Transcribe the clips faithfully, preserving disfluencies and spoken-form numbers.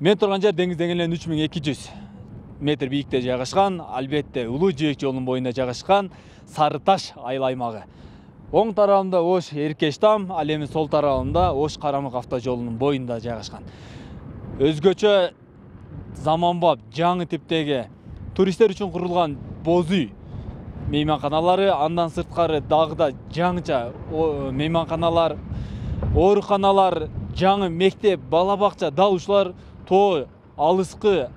Мен турган жер деңиз деңгээлинен үч миң эки жүз метр бийикте жайгашкан, албетте Улуу Жээк жолунун боюнда жайгашкан Сары Таш айыл аймагы. Оң тарабында Ош Эркештам, ал эми сол тарабында Ош Карамык автожолунун боюнда жайгашкан. Өзгөчө заманбап, жаңы типтеги туристтер үчүн курулган боз үй мейманканалары, андан сырткары дагы да жаңыча мейманканалар, ооруканалар, жаңы мектеп, бала бакча, дал ушулар тоо алыскы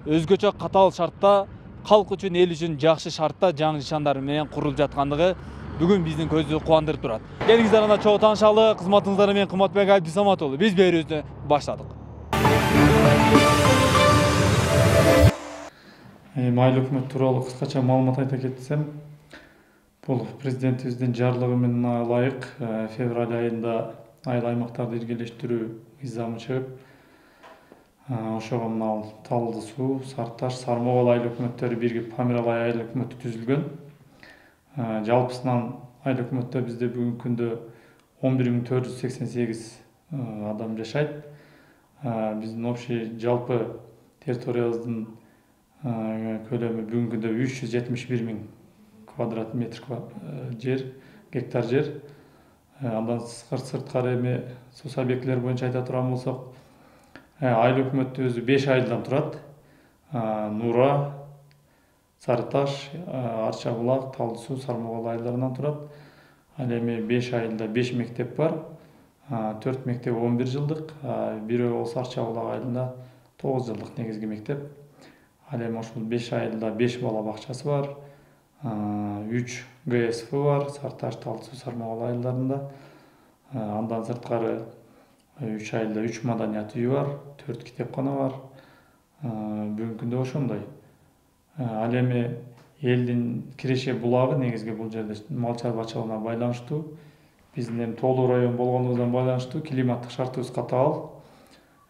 өзгөчө катаал шартта, калк үчүн, эл үчүн жакшы шартта жаңы нышандар менен курулуп жаткандыгы бүгүн биздин көздү кубандырып турат. Келиңиздер анда чогуу таанышалы, кызматыңыздар менен Кымбатбек Абдисаматову. Биз берүүбүздү баштадык. Айыл өкмөт тууралуу кыскача маалымат айта кетсем, бул президентибиздин жарлыгы менен ылайык февраль айында айыл аймактарды иргелештирүү мыйзамы чыгып, ошого мына Талды суу, Сары Таш, Сармогол айыл өкмөттөрү биригип Памиралай айыл өкмөтү түзүлгөн. Жалпысынан айыл өкмөттө бизде бүгүнкү күндө он бир миң төрт жүз сексен сегиз адам жашайт. Биздин общий жалпы территориябыздын көлөмү бүгүнкү күндө үч жүз жетимиш бир миң квадрат метр жер, гектар жер. Андан сырткары эми сус объектилери боюнча айта турган болсок, айыл өкмөтү өзү беш айылдан турат. Нуура, Сары Таш, Арча булак, Талды суу, Сармогол айылдарынан турат. Ал эми беш айылда беш мектеп бар. төрт мектеп он бир жылдык, бирөө болсо Арча булак айылында тогуз жылдык негизги мектеп. Ал эми ошол беш айылда беш бала бакчасы бар. үч Г С Ф бар, Сары Таш, Талды суу, Сармогол айылдарында. Андан сырткары үч айылда үч маданият үйү бар, төрт китепкана бар. Бүгүнкү күндө ошондой. Ал эми элдин киреше булагы негизги бул жерде мал чарбачылыгына байланыштуу, биздин эми тоолуу район болгондугунан байланыштуу климаттык шартыбыз катаал.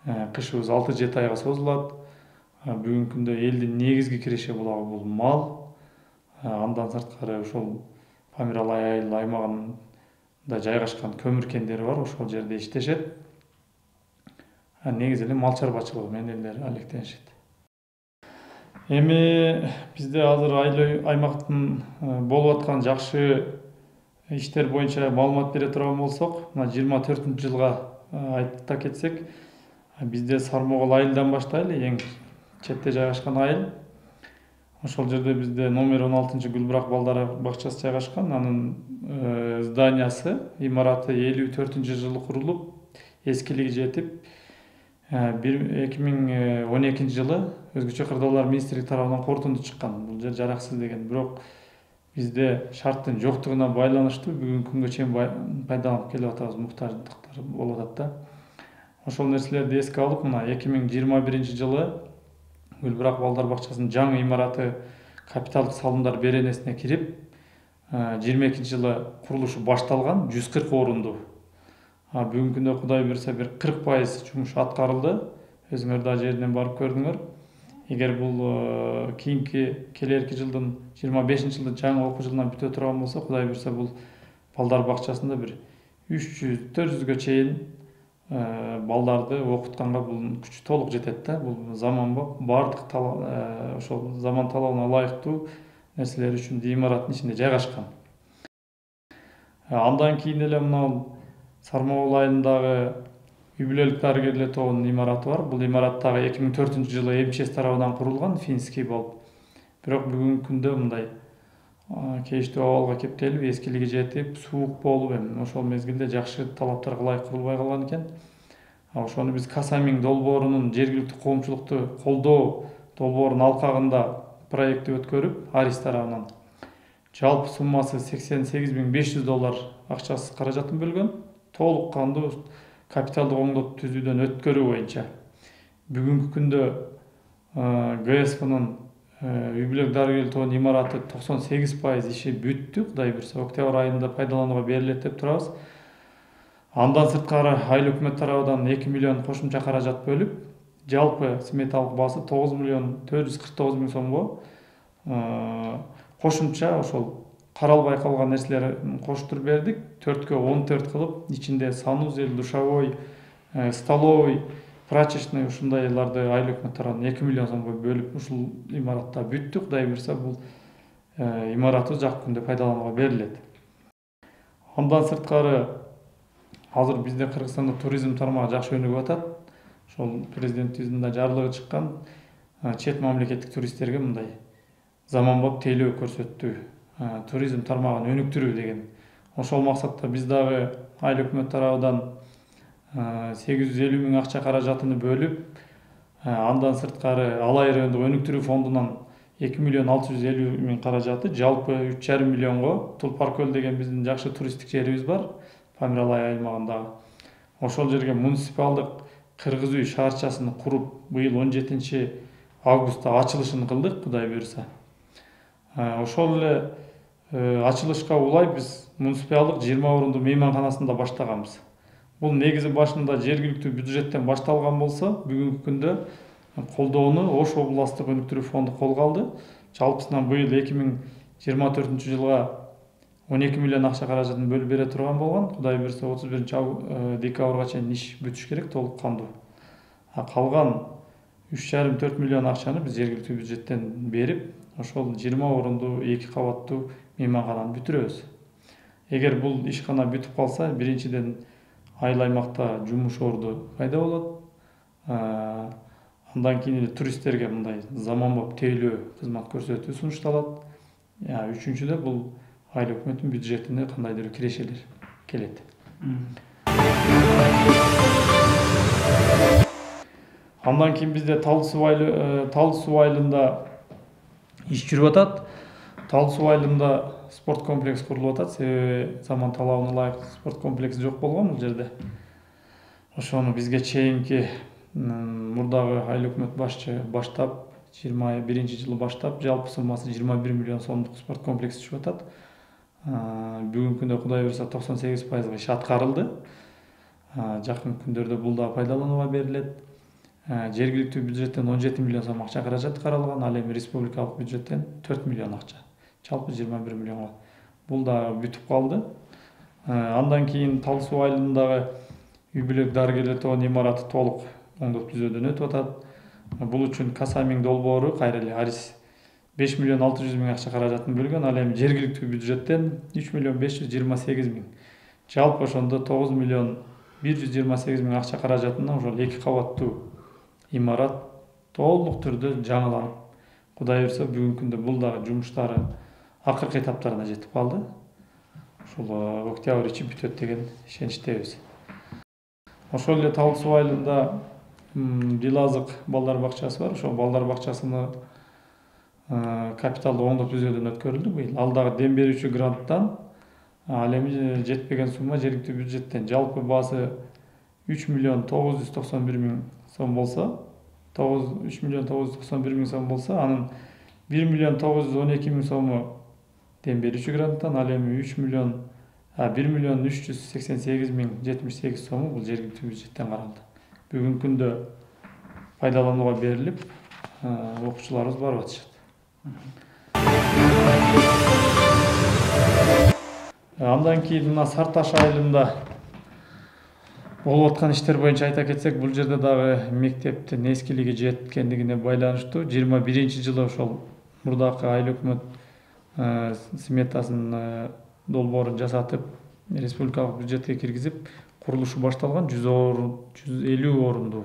Кышыбыз алты жети айга созулат. Бүгүнкү күндө элдин негизги киреше булагы бул мал. Андан сырткары ошол Памиралай айыл аймагында жайгашкан көмүр кендери бар, ошол жерде иштешет. Негизи эле мал чарбачылыгы менен элдер алектенишет. Эми бизде азыр айыл аймактын болуп аткан жакшы иштер боюнча маалымат бере турган болсок, мына жыйырма төртүнчү жылга айта кетсек, бизде Сармогол айылдан баштайлы, эң четте жайгашкан айыл. Ошол жерде бизде номер он алтынчы Гүлбурак балдар бакчасы жайгашкан. Анын зданиясы, имараты элүү төртүнчү жылы курулуп, эскилиги жетип, эки миң он экинчи жылы өзгөчө кырдаалар министрлиги тарабынан корутунду чыккан. Бул жер жараксыз деген. Бирок бизде шарттын жоктугуна байланыштуу бүгүнкү күнгө чейин пайдаланып келип атабыз, муктаждыктар болуп атат да. Ошол нерселерди эске алып, мына эки миң жыйырма биринчи жылы Гүлбурак балдар бакчасынын жаңы имараты капиталдык салымдар беренесине кирип, жыйырма экинчи жылы курулушу башталган, жүз кырк орунду. Бүгүнкү күндө Кудай буйрса бир кырк пайыз жумуш аткарылды. Өзүңөр да жеринен барып көрдүңөр. Эгер бул кийинки келерки жылдын жыйырма бешинчи жылы жаңы окуу жылынан бүтө турган болсо, Кудай буйрса бул балдар бакчасында бир үч жүз төрт жүзгө чейин балдарды окутканга бул күч толук жетет да. Бул заманбап, бардык ошол заман талабына ылайыктуу нерселер үчүн имараттын ичинде жайгашкан. Андан кийин эле мына Сармогол айылындагы үй бүлөлүк дарыгерлер тобунун имараты бар. Бул имарат дагы эки миң төртүнчү жылы эм че эс тарабынан курулган, финский болуп. Бирок бүгүнкү күндө мындай кейиштүү абалга кептелип, эскилиги жетип, суук болуп, эми ошол мезгилде жакшы талаптарга ылайык курулбай калган экен. Ошону биз Касамин долбоорунун жергиликтүү коомчулукту колдоо долбоорунун алкагында проекти өткөрүп, Арис тарабынан жалпы суммасы сексен сегиз миң беш жүз доллар акчасы каражатын бөлгөн. Толук кандуу капиталдык оңдоп түзүүдөн өткөрүү боюнча. Бүгүнкү күндө Г С Ф'нун үй бүлөлүк дарыгерлер тобунун имараты токсон сегиз пайыз иши бүттү. Кудай буйрса октябрь айында пайдаланууга берилет деп турабыз. Андан сырткары айыл өкмөт тарабынан эки миллион кошумча каражат бөлүп, жалпы сметалык баасы тогуз миллион төрт жүз кырк тогуз миң сомго кошумча ошол каралбай калган нерселерин коштуруп бердик. төрткө он төрт кылып, ичинде санузел, душевой, столовый, прачечный ушундайларды айыл өкмөт тарабынан эки миллион сомго бөлүп ушул имаратта бүттү. Кудай буйрса бул имаратыбыз жакын күндө пайдаланууга берилет. Андан сырткары азыр бизде Кыргызстанда туризм тармагы жакшы өнүгүп атат. Ошол президентибиздин да жарлыгы чыккан, чет мамлекеттик туристтерге мындай заманбап тейлөө көрсөттүү, туризм тармагын өнүктүрүү деген. Ошол максатта биз дагы айыл өкмөт тарабынан сегиз жүз элүү миң акча каражатыны бөлүп, андан сырткары Алай райондук өнүктүрүү фондунан эки миллион алты жүз элүү миң каражаты, жалпы үч жарым миллионго Тулпар көл деген биздин жакшы туристтик жерибиз бар, Памир Алай аймагындагы. Ошол жерге муниципалдык кыргыз үй шаарчасын куруп, быйыл он жетинчи августта ачылышын кылдык, Кудай буйрса. Ошол эле ачылышка улай биз муниципалдык жыйырма орунду мейманканасында баштаганбыз. Бул негизи башында жергиликтүү бюджеттен башталган болсо, бүгүнкү күндө колдоону Ош областтык өнүктүрүү фонду колго алды. Жалпысынан быйыл эки миң жыйырма төртүнчү жылга он эки миллион акча каражатын бөлүп бере турган болгон. Кудай буйрса отуз биринчи декабрга чейин иш бүтүш керек толук кандуу. Калган үч жарым төрт миллион акчаны биз жергиликтүү бюджеттен берип, ошол жыйырма орунду эки кабаттуу мейманкананы бүтүрөбүз. Эгер бул ишкана бүтүп калса, биринчиден айыл аймакта жумуш орду пайда болот. Андан кийин эле туристтерге мындай заманбап тейлөө кызмат көрсөтүү сунушталат. Үчүнчүдө бул айыл өкмөттүн бюджетине кандайдыр кирешелер келет. Андан кийин бизде Талды суу айылында иш жүрүп атат. Талды суу айылында спорт комплекс курулуп атат. Себеби заман талабына ылайык спорт комплекси жок болгон бул жерде. Ошону бизге чейинки мурдагы айыл өкмөт башчы баштап, жыйырма биринчи жылы баштап, жалпы суммасы жыйырма бир миллион сомдук спорт комплекси түшүп атат. Бүгүнкү күндө Кудай буйрса токсон сегиз пайызга иш аткарылды. Жакын күндөрдө бул да пайдаланууга берилет. Жергиликтүү бюджеттен он жети миллион сом акча каражат каралган, ал эми республикалык бюджеттен төрт миллион акча. Жалпы жыйырма бир миллионго. Бул да бүтүп калды. Андан кийин Талды суу айылындагы үй бүлөк дарыгерлер тобунун имараты толук оңдоп түзөөдөн өтүп атат. Бул үчүн Касамиң долбоору кайра эле Арис беш миллион алты жүз миң акча каражатын бөлгөн, ал эми жергиликтүү бюджеттен үч миллион беш жүз жыйырма сегиз миң. Жалпы ошондо тогуз миллион бир жүз жыйырма сегиз миң акча каражатына ошол эки кабаттуу имарат толук түрдө жаңыланып, Кудай буйрса бүгүнкү күндө бул дагы жумуштары акыркы этаптарына жетип калды. Ушул октябрь ичи бүтөт деген ишеничтебиз. Ошол эле Талды суу айылында Дилазык балдар бакчасы бар. Ошол балдар бакчасыны капиталдык оңдоп түзөөдөн өткөрүлдү быйыл. Ал дагы дем берүүчү гранттан, ал эми жетпеген сумма жергиликтүү бюджеттен. Жалпы баасы үч миллион тогуз жүз токсон бир миң сом болсо, үч миллион тогуз жүз токсон бир миң сом болсо, анын бир миллион тогуз жүз он эки миң сому дем берүүчү гранттан, ал эми үч миллион бир миллион үч жүз сексен сегиз миң жетимиш сегиз сому бул жергиликтүү бюджеттен каралды. Бүгүнкү күндө пайдаланууга берилип, окуучуларыбыз барып атышат. Андан кийин мына Сарташ айылында болуп аткан иштер боюнча айта кетсек, бул жерде дагы мектептин эскилиги жеткендигине байланыштуу жыйырма биринчи жылы ошол мурдакы айыл өкмөт сметасын долбоорун жасатып, республикалык бюджетке киргизип, курулушу башталган жүз элүү орунду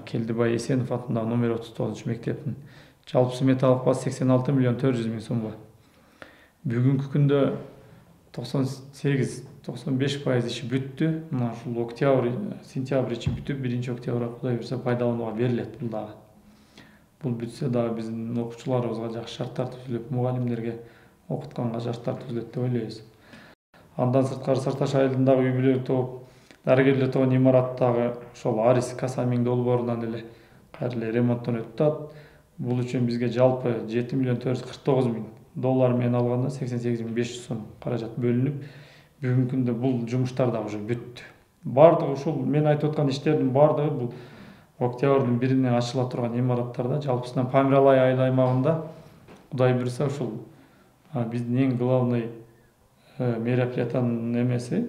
Келдибай Эсенов атындагы номер отуз тогузунчу мектептин жалпы сметалык баасы сексен алты миллион төрт жүз миң сомго. Бүгүнкү күндө токсон сегиз токсон беш пайыз иши бүттү. Мына ушул октябрь, сентябрь ичи бүтүп, биринчи октябрга Кудай буйрса пайдаланууга берилет бул дагы. Бул бүтсө дагы биздин окуучуларыбызга жакшы шарттар түзүлүп, мугалимдерге окутканга шарттар түзүлөт деп ойлойбуз. Андан сырткары Сарташ айылындагы үй бүлөлүк топ, дарыгерлер тобунун имараттагы ошол Арис Касамиң долбоорунан эле кайра эле ремонттон өтүп атат. Бул үчүн бизге жалпы жети миллион төрт жүз кырк тогуз миң доллар менен алганда сексен сегиз миң беш жүз сом каражат бөлүнүп, бүгүнкү күндө бул жумуштар да уже бүттү. Бардыгы ушул мен айтып аткан иштердин бардыгы бул октябрдын биринен ачыла турган имараттарда, жалпысынан Памир Алай айыл аймагында Кудай буйрса ушул биздин эң главный мероприятиянын эмеси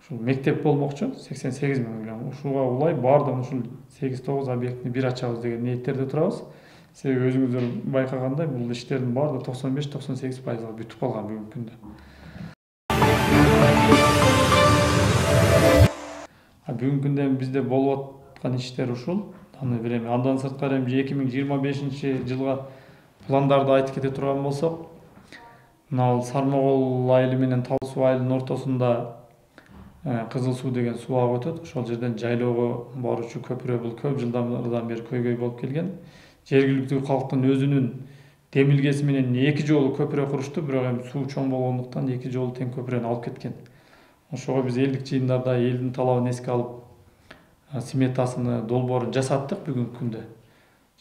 ушул мектеп болмокчу сексен сегиз миң. Ушуга улай баардыгын ушул сегиз тогуз объектини бир ачабыз деген ниеттерде турабыз. Себеби өзүңүздөр байкагандай бул иштердин баардыгы токсон беш токсон сегиз пайызга бүтүп калган бүгүнкү күндө. Бүгүнкү күндө бизде болуп аткан иштер ушул. Аны берем. Андан сырткары эми эки миң жыйырма бешинчи жылга пландарды айтып кете турган болсок, мына Сармогол айылы менен Тал суу айылынын ортосунда Кызыл суу деген суу ага өтөт. Ошол жерден жайлоого баруучу көпүрө бул көп жылдардан бери көйгөй болуп келген. Жергиликтүү калктын өзүнүн демилгеси менен эки жолу көпүрө курушту, бирок эми суу чоң болгондуктан эки жолу тең көпүрөнү алып кеткен. Ошого биз элдик жыйындарда элдин талабын эске алып сметасыны, долбоорун жасаттык бүгүнкү күндө.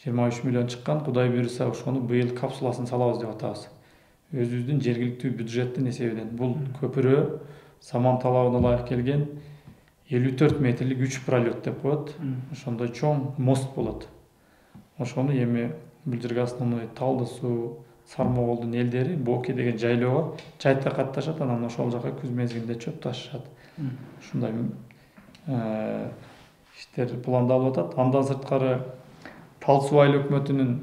жыйырма үч миллион чыккан. Кудай буйруса ошону быйыл капсуласын салабыз деп атабыз. Өзүбүздүн жергиликтүү бюджеттин эсебинен. Бул көпүрө заман талабына ылайык келген элүү төрт метрлик үч пролет деп коет. Ошондой чоң мост болот. Ошону эми бул жерге основной Талды суу, Сармоголдун элдери Боки деген жайлоого чайта катташат, анан ошол жака күз мезгилинде чөп ташышат. Ушундай иштер пландалып атат. Андан сырткары Тал суу айыл өкмөтүнүн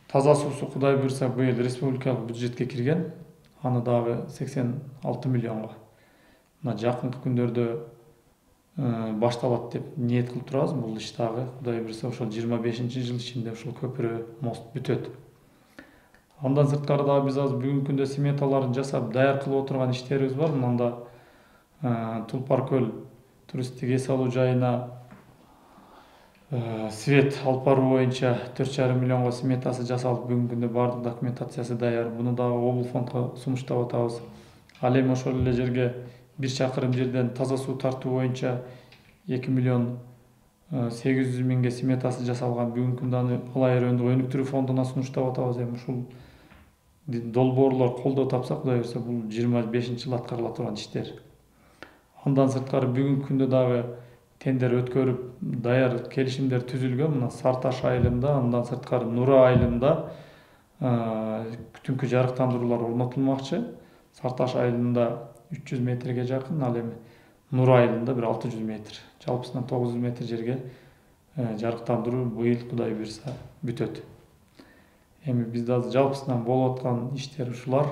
таза суусу Кудай буйруса быйыл республикалык бюджетке кирген. Аны дагы сексен алты миллионго. Мына жакынкы күндөрдө башталат деп ниет кылып турабыз. Бул иш дагы Кудай буйруса ошол жыйырма бешинчи жыл ичинде ушул көпүрө, мост бүтөт. Андан сырткары дагы биз азыр бүгүнкү күндө сметаларын жасап даяр кылып отурган иштерибиз бар. Мында Тулпар көл туристтик эс алуу жайына свет алып баруу боюнча төрт жарым миллионго сметасы жасалып, бүгүнкү күндө баардык документациясы даяр. Буну дагы облфондко сунуштап атабыз. Ал эми ошол эле жерге бир чакырым жерден таза суу тартуу боюнча эки миллион сегиз жүз миңге сметасы жасалган. Бүгүнкү күндө аны Алай райондук өнүктүрүү фондуна сунуштап атабыз. Эми ушул долбоорлор колдоо тапса, Кудай буйруса бул жыйырма бешинчи жылы аткарыла турган иштер. Андан сырткары бүгүнкү күндө дагы тендер өткөрүп, даяр келишимдер түзүлгөн. Мына Сарташ айылында, андан сырткары Нура айылында түнкү жарыктандыруулар орнотулмакчы. Сарташ айылында үч жүз метрге жакын, ал эми Нура айылында бир алты жүз метр. Жалпысынан тогуз жүз метр жерге жарыктандыруу быйыл Кудай буйруса бүтөт. Эми бизде азыр жалпысынан болуп аткан иштер ушулар.